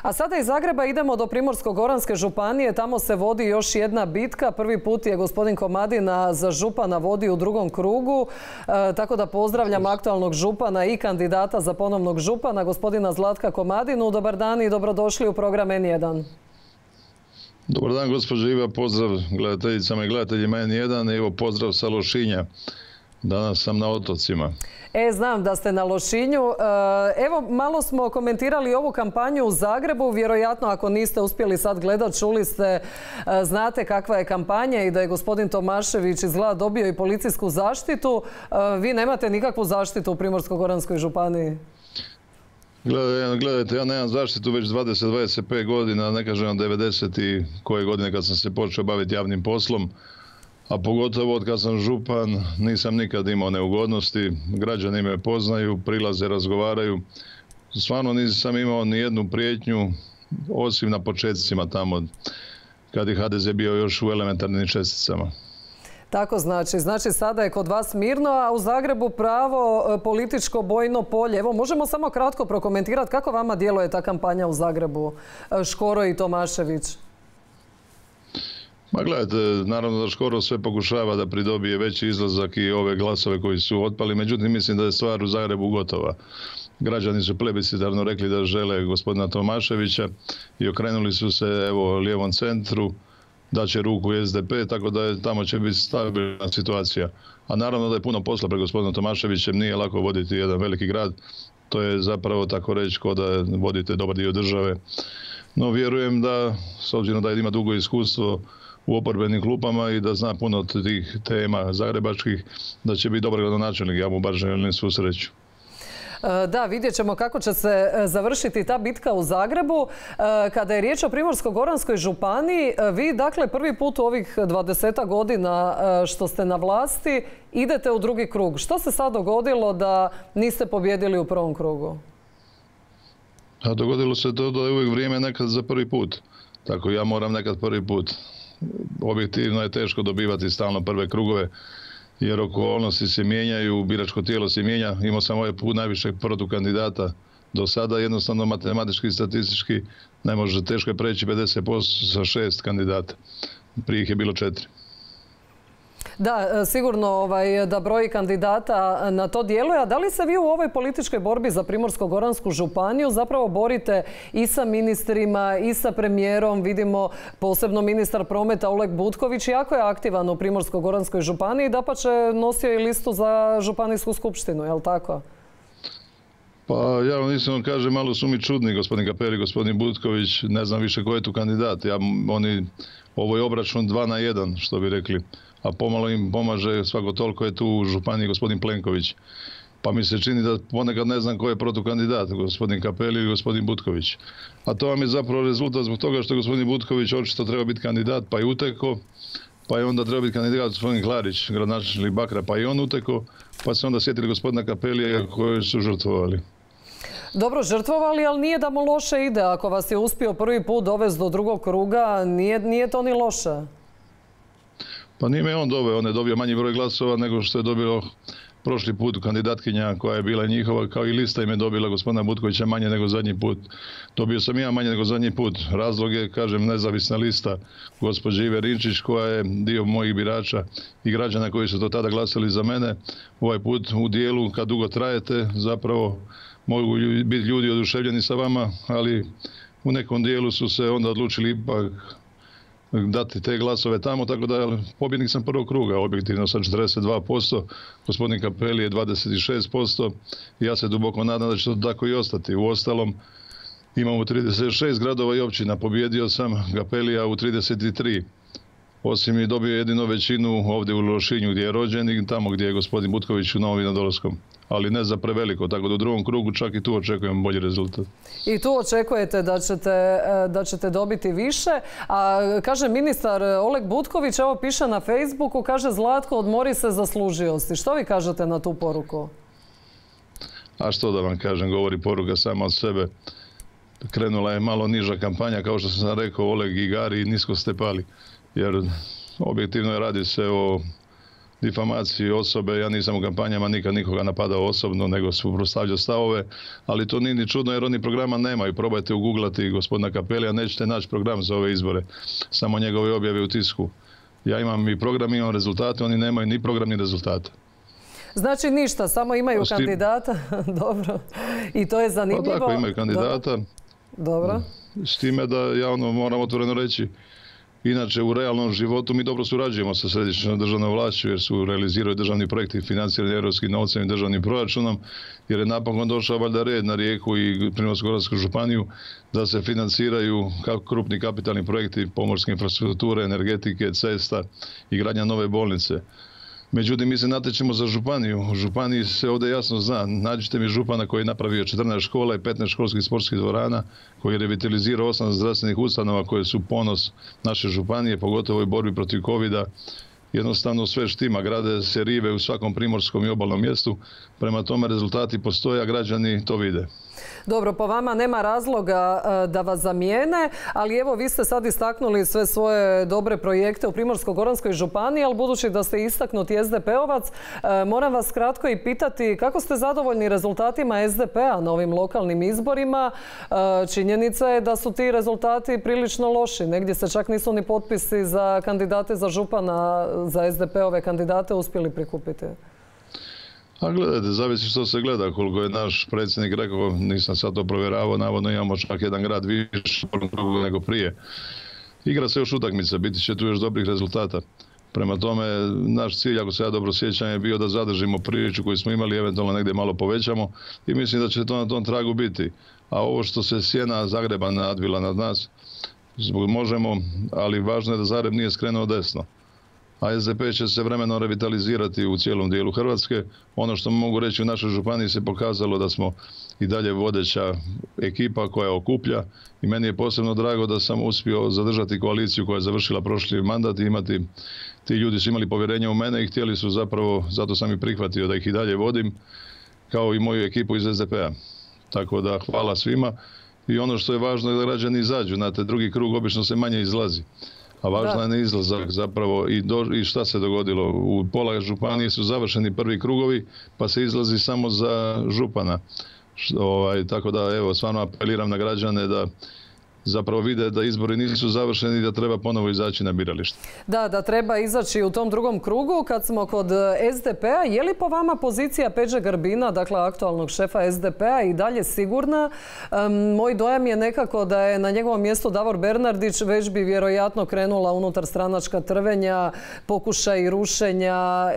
A sada iz Zagreba idemo do Primorsko-goranske županije. Tamo se vodi još jedna bitka. Prvi put je gospodin Komadina za župana vodi u drugom krugu. Tako da pozdravljam aktualnog župana i kandidata za ponovnog župana, gospodina Zlatka Komadinu. Dobar dan i dobrodošli u program N1. Dobar dan, gospođo Iva. Pozdrav gledateljicama i gledateljima N1. Evo, pozdrav sa Lošinja. Danas sam na otocima. Znam da ste na Lošinju. Evo, malo smo komentirali ovu kampanju u Zagrebu. Vjerojatno, ako niste uspjeli sad gledati, čuli ste, znate kakva je kampanja i da je gospodin Tomašević izgleda dobio i policijsku zaštitu. Vi nemate nikakvu zaštitu u Primorsko-goranskoj županiji? Gledajte, ja nemam zaštitu već 20-25 godina, ne kažem 90 i koje godine kad sam se počeo baviti javnim poslom. A pogotovo od kad sam župan nisam nikad imao neugodnosti, građani me poznaju, prilaze, razgovaraju. Stvarno nisam imao ni jednu prijetnju, osim na početcima tamo, kad je HDZ bio još u elementarnim česticama. Tako znači sada je kod vas mirno, a u Zagrebu pravo političko bojno polje. Evo, možemo samo kratko prokomentirati kako vama djeluje ta kampanja u Zagrebu, Škoro i Tomašević? Ma gledajte, naravno da Škoro sve pokušava da pridobije veći izlazak i ove glasove koji su otpali, međutim mislim da je stvar u Zagrebu gotova. Građani su plebiscitarno rekli da žele gospodina Tomaševića i okrenuli su se evo lijevom centru, da će ruku SDP, tako da tamo će biti stabilna situacija. A naravno da je puno posla pred gospodinom Tomaševićem, nije lako voditi jedan veliki grad, to je zapravo tako reći kao da vodite dobar dio države. No vjerujem da, s obzirom da ima dugo iskustvo u oporbenim klupama i da zna puno tih tema zagrebačkih, da će biti dobar gradonačelnik. Ja mu bar želim svu sreću. Da, vidjet ćemo kako će se završiti ta bitka u Zagrebu. Kada je riječ o Primorsko-goranskoj županiji, vi dakle prvi put u ovih 20 godina što ste na vlasti idete u drugi krug. Što se sad dogodilo da niste pobjedili u prvom krugu? A dogodilo se to da je uvijek vrijeme nekad za prvi put. Tako ja moram nekad prvi put. Objektivno je teško dobivati stalno prve krugove, jer okolnosti se mijenjaju, biračko tijelo se mijenja. Imao sam ovaj put najviše protukandidata do sada, jednostavno matematički i statistički ne može, teško je preći 50% sa 6 kandidata. Prije ih je bilo 4. Da, sigurno da broj kandidata na to djeluje. A da li se vi u ovoj političkoj borbi za Primorsko-goransku županiju zapravo borite i sa ministrima i sa premijerom? Vidimo posebno ministar prometa Oleg Butković jako je aktivan u Primorsko-goranskoj županiji, dapače nosio i listu za županijsku skupštinu, je li tako? Pa ja vam iskreno kažem, malo su mi čudni gospodin Kapeli, gospodin Butković, ne znam više ko je tu kandidat. Ovo je obračun 2 na 1, što bi rekli. A pomalo im pomaže, svako toliko je tu u županiji gospodin Plenković. Pa mi se čini da ponekad ne znam ko je protukandidat, gospodin Kapeli ili gospodin Butković. A to vam je zapravo rezultat zbog toga što je gospodin Butković očito treba biti kandidat, pa je uteko, pa je onda treba biti kandidat gospodin Klarić, gradonačelnik Bakra, pa i on uteko, pa se onda sjetili gospodina Kapelija koje su žrtvovali. Dobro, žrtvovali, ali nije da mu loše ide. Ako vas je uspio prvi put dovesti do drugog kruga, nije to ni loše. Pa nije me on doveo, on je dobio manji broj glasova nego što je dobilo prošli put kandidatkinja koja je bila njihova, kao i lista im je dobila gospodina Butkovića manje nego zadnji put. Dobio sam ja manje nego zadnji put. Razlog je, kažem, nezavisna lista gospođe Ive Rinčić koja je dio mojih birača i građana koji su do tada glasali za mene. Ovaj put u dijelu, kad dugo trajete, zapravo mogu biti ljudi oduševljeni sa vama, ali u nekom dijelu su se onda odlučili ipak dati te glasove tamo, tako da pobjednik sam prvog kruga, objektivno sa 42%, gospodin Kapeli je 26%, ja se duboko nadam da će to tako i ostati. Uostalom, imamo 36 gradova i općina, pobjedio sam Kapelija u 33. Osim je dobio jedino većinu ovdje u Lošinju gdje je rođen i tamo gdje je gospodin Butković u Novom Vinodolskom. Ali ne za preveliko, tako da u drugom krugu čak i tu očekujem bolji rezultat. I tu očekujete da ćete dobiti više. A kaže ministar Oleg Butković, evo piše na Facebooku, kaže Zlatko, odmori se, zaslužio si. Što vi kažete na tu poruku? A što da vam kažem, govori poruka sama od sebe. Krenula je malo niža kampanja, kao što sam rekao, Oleg i Gari nisko ste pali. Jer objektivno radi se o difamaciji osobe. Ja nisam u kampanjama nikad nikoga napadao osobno, nego suprotstavljao stavove, ali to nije ni čudno jer oni programa nemaju. Probajte ugooglati gospodina Cappellija, nećete naći program za ove izbore, samo njegove objave u tisku. Ja imam i program, imam rezultate, oni nemaju ni program ni rezultate. Znači ništa, samo imaju kandidata. Dobro. I to je zanimljivo. Pa tako, imaju kandidata. Dobro. S time da ja moram otvoreno reći, inače u realnom životu mi dobro surađujemo sa središnjom državnom vlašću jer su realiziraju državni projekti financirani europskim novcem i državnim proračunom, jer je napokon došao valjda red na Rijeku i Primorsko-goransku županiju da se financiraju krupni kapitalni projekti pomorske infrastrukture, energetike, cesta i gradnja nove bolnice. Međutim, mi se natječemo za županiju. U županiji se ovdje jasno zna. Nađite mi župana koji je napravio 14 škola i 15 školskih sportskih dvorana, koji je revitalizirao 8 zdravstvenih ustanova koje su ponos naše županije, pogotovo u borbi protiv covida. Jednostavno sve štima, grade se rive u svakom primorskom i obalnom mjestu. Prema tome rezultati postoje, a građani to vide. Dobro, po vama nema razloga da vas zamijene, ali evo vi ste sad istaknuli sve svoje dobre projekte u Primorsko-goranskoj županiji, ali budući da ste istaknuti SDP-ovac, moram vas kratko i pitati kako ste zadovoljni rezultatima SDP-a na ovim lokalnim izborima. Činjenica je da su ti rezultati prilično loši. Negdje se čak nisu ni potpisi za kandidate za župana, za SDP-ove kandidate uspjeli prikupiti. A gledajte, zavisi što se gleda, koliko je naš predsjednik rekao, nisam sad to provjeravao, navodno imamo čak jedan grad više nego prije. Igra se još utakmica, biti će tu još dobrih rezultata. Prema tome, naš cilj, ako se ja dobro sjećam, je bio da zadržimo priču koju smo imali, eventualno negdje malo povećamo i mislim da će to na tom tragu biti. A ovo što se sjena Zagreba nadvila nad nas, možemo, ali važno je da Zagreb nije skrenuo desno. A SDP će se vremenom revitalizirati u cijelom dijelu Hrvatske. Ono što mogu reći, u našoj županiji se pokazalo da smo i dalje vodeća ekipa koja okuplja i meni je posebno drago da sam uspio zadržati koaliciju koja je završila prošli mandat i imati, ti ljudi su imali povjerenje u mene i htjeli su zapravo, zato sam i prihvatio da ih i dalje vodim, kao i moju ekipu iz SDP-a. Tako da hvala svima i ono što je važno je da građani izađu, znate, drugi krug obično se manje izlazi. A važno je neizlazak zapravo i šta se dogodilo. U pola županije su završeni prvi krugovi, pa se izlazi samo za župana. Tako da, evo, stvarno apeliram na građane da zapravo vide da izbori nisu završeni i da treba ponovo izaći na biralište. Da treba izaći u tom drugom krugu. Kad smo kod SDP-a, je li po vama pozicija Peđe Grbina, dakle aktualnog šefa SDP-a, i dalje sigurna? Moj dojam je nekako da je na njegovom mjestu Davor Bernardić, već bi vjerojatno krenula unutar stranačka trvenja, pokušaj rušenja,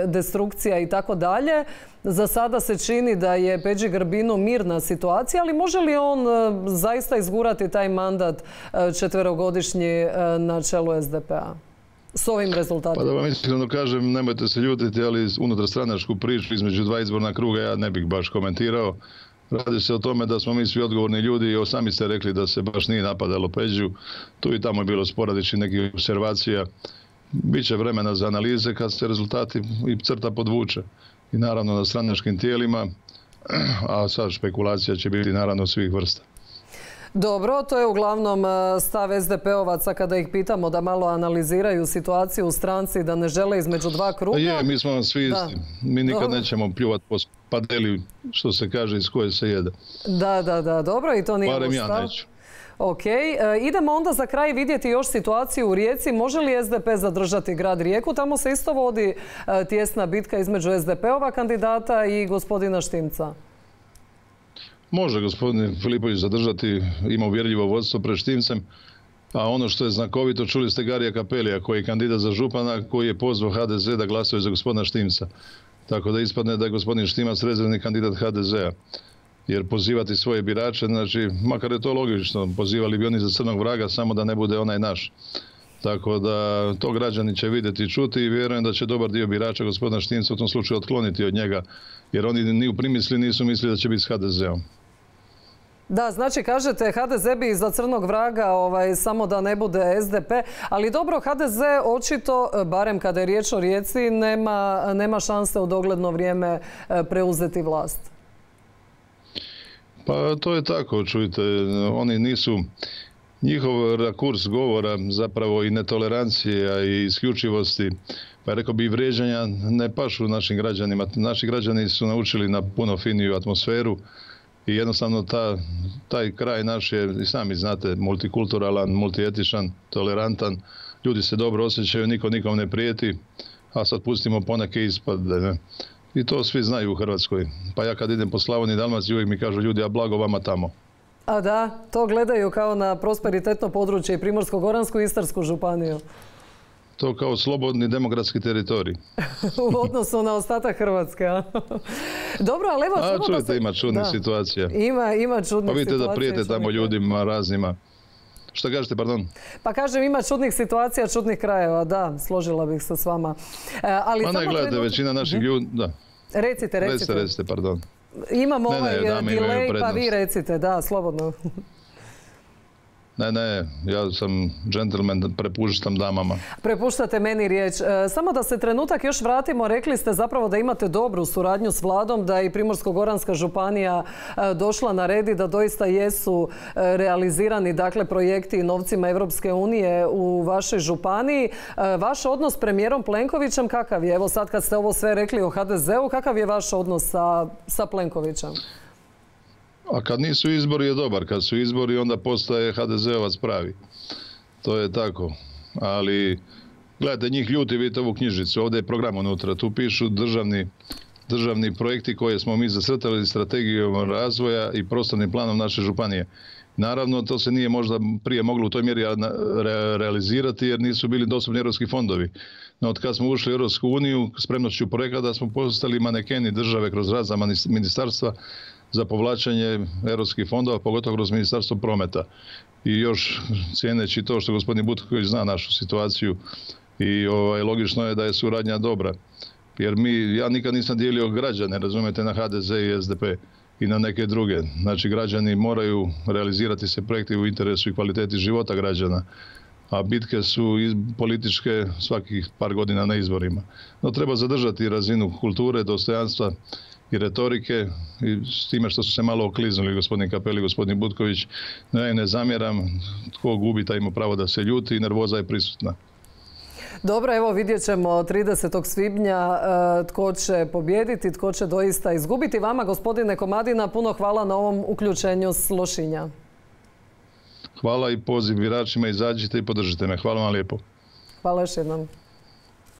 destrukcija i tako dalje. Za sada se čini da je Peđi Grbinu mirna situacija, ali može li on zaista izgurati taj mandat četverogodišnji na čelu SDP-a s ovim rezultatima? Pa da vam iskreno kažem, nemojte se ljutiti, ali unutar stranačku priču između dva izborna kruga ja ne bih baš komentirao. Radi se o tome da smo mi svi odgovorni ljudi i sami ste rekli da se baš nije napadalo Peđu. Tu i tamo je bilo sporadičnih nekih observacija. Biće vremena za analize kad se rezultati i crta podvuče. I naravno na stranačkim tijelima, a sad špekulacija će biti naravno svih vrsta. Dobro, to je uglavnom stav SDP-ovaca kada ih pitamo da malo analiziraju situaciju u stranci, da ne žele između dva kruga. Je, mi smo svi isti. Mi nikad nećemo pljuvati po padeli, što se kaže, iz koje se jede. Da, dobro, i to nije barem ja neću. Ok, idemo onda za kraj vidjeti još situaciju u Rijeci. Može li SDP zadržati grad Rijeku? Tamo se isto vodi tijesna bitka između SDP-ova kandidata i gospodina Štimca. Može gospodin Filipović zadržati, ima uvjerljivo vodstvo pred Štimcem, a ono što je znakovito, čuli ste Garija Cappellija koji je kandidat za župana, koji je pozvao HDZ da glasuje za gospodina Štimca. Tako da ispadne da je gospodin Štimac rezervni kandidat HDZ-a. Jer pozivati svoje birače, znači, makar je to logično, pozivali bi oni za crnog vraga, samo da ne bude onaj naš. Tako da to građani će vidjeti i čuti i vjerujem da će dobar dio birača gospodina Štimca u tom slučaju otkloniti od njega, jer oni ni u primisli nisu mislili da će biti s HDZ-om. Da, znači kažete HDZ bi za crnog vraga samo da ne bude SDP, ali dobro, HDZ očito, barem kada je riječ o Rijeci, nema šanse u dogledno vrijeme preuzeti vlast. Pa to je tako, čujte, oni nisu, njihov rakurs govora zapravo i netolerancije i isključivosti, pa rekao bi i vrijeđanja, ne pašu našim građanima. Naši građani su naučili na puno finiju atmosferu i jednostavno taj kraj naš je, i sami znate, multikulturalan, multietičan, tolerantan. Ljudi se dobro osjećaju, niko nikom ne prijeti, a sad pustimo poneke ispade. Ne? I to svi znaju u Hrvatskoj. Pa ja kad idem po Slavoniji i Dalmaciji uvijek mi kažu ljudi, a blago vama tamo. A da, to gledaju kao na prosperitetno područje i Primorsko-goransku i Istarsku županiju. To kao slobodni demokratski teritorij. U odnosu na ostatak Hrvatske, a? Dobro, ali evo... čujete, ima čudnih situacija. Ima čudnih situacija. Pa vidite da prijete tamo ljudima raznima. Šta kažete, pardon? Pa kažem, ima čudnih situacija, čudnih krajeva, da, složila bih se s vama. Pa ne, gledajte, većina naših ljudi, da. Recite, pardon. Imamo delay, pa vi recite, da, slobodno. Ne, ja sam džentlmen, prepuštam damama. Prepuštate meni riječ. Samo da se trenutak još vratimo, rekli ste zapravo da imate dobru suradnju s vladom, da je i Primorsko-goranska županija došla na red i da doista jesu realizirani projekti novcima Europske unije u vašoj županiji. Vaš odnos s premijerom Plenkovićem kakav je? Evo sad kad ste ovo sve rekli o HDZ-u, kakav je vaš odnos sa Plenkovićem? A kad nisu izbori je dobar, kad su izbori onda postaje HDZ-ovac pravi. To je tako. Ali, gledajte, njih ljuti, vidite ovu knjižicu, ovdje je program unutra, tu pišu državni projekti koje smo mi zacrtali strategijom razvoja i prostornim planom naše županije. Naravno, to se nije možda prije moglo u toj mjeri realizirati jer nisu bili dostupni europski fondovi. No, od kad smo ušli u Europsku uniju, spremnošću projekata smo postali manekeni države kroz razna ministarstva za povlačenje europskih fondova, pogotovo kroz Ministarstvo prometa. I još cijeneći to što gospodin Butković zna našu situaciju i logično je da je suradnja dobra. Jer ja nikad nisam dijelio građane, razumijete, na HDZ i SDP i na neke druge. Znači, građani moraju realizirati se projekti u interesu i kvaliteti života građana. A bitke su političke svakih par godina na izborima. No, treba zadržati razinu kulture, dostojanstva i retorike i s time što su se malo okliznuli gospodin Kapeli i gospodin Butković. Ne zamjeram, tko gubi taj ima pravo da se ljuti i nervoza je prisutna. Dobro, evo vidjet ćemo 30. svibnja tko će pobijediti, tko će doista izgubiti. Vama, gospodine Komadina, puno hvala na ovom uključenju s Lošinja. Hvala i poziv biračima, izađite i podržite me. Hvala vam lijepo. Hvala još jednom.